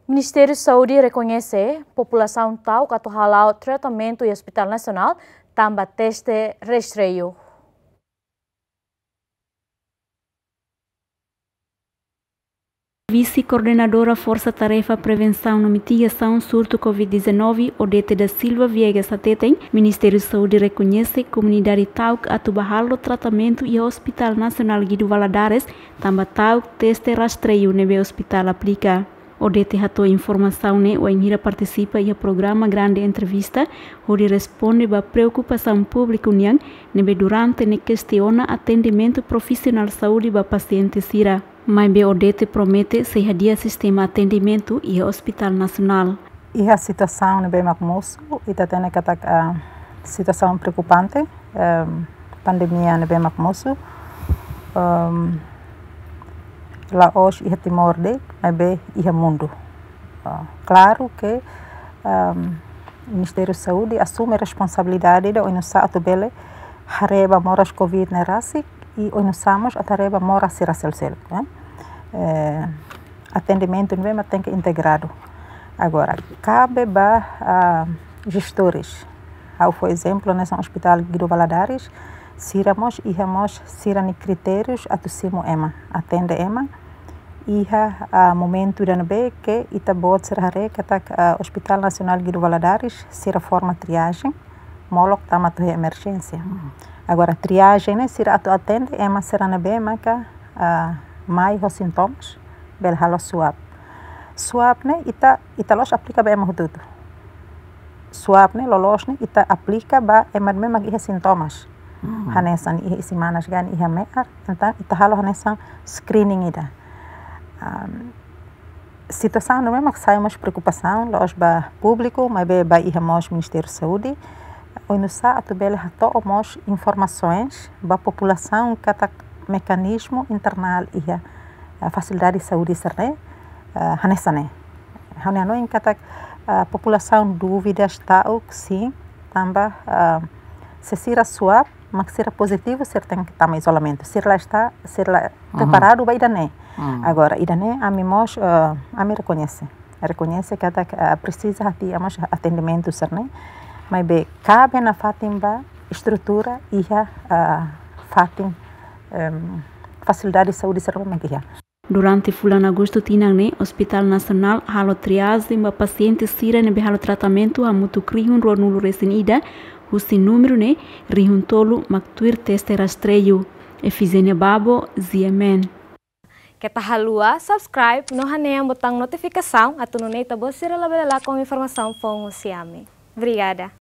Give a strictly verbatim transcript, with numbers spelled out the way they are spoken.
Ministériu Saúde rekoñese populasaun ta'uk atu hala'o tratamentu iha Hospital Nasionál tanba teste rastreiu. Vise-Koordenadora Forsa Tarefa Prevensaun no Mitigasaun Surtu covid dezanove, Odete da Silva Viegas hateten, Ministériu Saúde rekoñese komunidade ta'uk atu bá halo tratamentu iha Hospital Nasionál Guido Valadares, tanba ta'uk teste rastreiu ne'ebé ospitál aplika. Odete hato'o informasaun ne'e wainhira partisipa iha programa Grande Entrevista, hodi responde ba preokupasaun públiku nian, ne'ebé durante ne'e kestiona atendimentu profisionál saúde ba pasiente sira. Maibé Odete promete sei hadi'a sistema atendimentu iha Hospital Nasionál. Iha situasaun ne'ebé mak mosu, ita hatene katak, ah, situasaun preokupante, em, pandemia ne'ebé mak mosu, em, la'ós iha Timor de'it, maibé iha mundu. Ah, klaru ke, em, Ministériu Saúde asume responsabilidade ida oinsá atu bele haree ba moras covid ne'e rasik, i oinsá mós atu haree ba moras sira seluk-seluk, ne'e? Eh, atendimentu ne'ebé mak tenke integradu. Agora, kabe ba, ah, jestores. Ha'u fó ezemplu hanesan Hospital Guido Valadares, sira mós iha mós sira-nia kritérius atu simu ema, atende ema. Iha, ah, momentu ida ne'ebé ke ita-boot sira haree katak, ah, Hospital Nasionál Guido Valadares, sira forma triajen, molok tama to'o iha emerjénsia. Hmm. Agora, triajen ne'e sira atu atende ema sira ne'ebé maka, ah, mai ho sintomas, bele halo swab. Swab ne'e ita, ita la'ós aplika ba ema hotu-hotu. Swab ne'e loloos ne'e ita aplika ba ema ne'ebé mak iha sintomas. Hmm. Hanesan iha isin-manas ka iha me'ar, entaun ita halo hanesan screening ida. Am, situasaun ne'e mak sai mós preokupasaun, la'ós ba públiku, maibé ba iha mós Ministériu Saúde. Oinsá atu bele hato'o mós informasoens ba populasaun katak mekanizmu internál iha, ah, fasilidade saúde sira-ne'e, ah, hanesan ne'e. Ha'u-nia hanoin katak, ah, populasaun dúvidas ta'uk, sin, tanba, ah, se sira swab, mak sira pozitivu, sira tenke tama izolamentu. Sira la está, sira la, mhm, preparadu ba ida-ne'e. Hmm. Agora, ida-ne'e ami mós, eh, ami rekoñese. Rekoñese katak, eh, presiza hadi'a mós atendimentu sira-ne'e. Maibé kabe nafatin ba estrutura iha, eh, fatin, em, fasilidade saúde sira-ne'ebé mak iha. Durante fulan Agostu tinan ne'e, Hospital Nasionál halo triajen ba pasiente sira ne'ebé halo tratamentu hamutuk rihun ruanulu resin ida, husi númeru ne'e rihun tolu mak tuir teste rastreiu. Efizénia Babo, G M N. Keta haluha subscribe no hanehan botaun notifikasaun atu nune'e ita-boot sira labele lakon informasaun foun husi ami. Obrigada.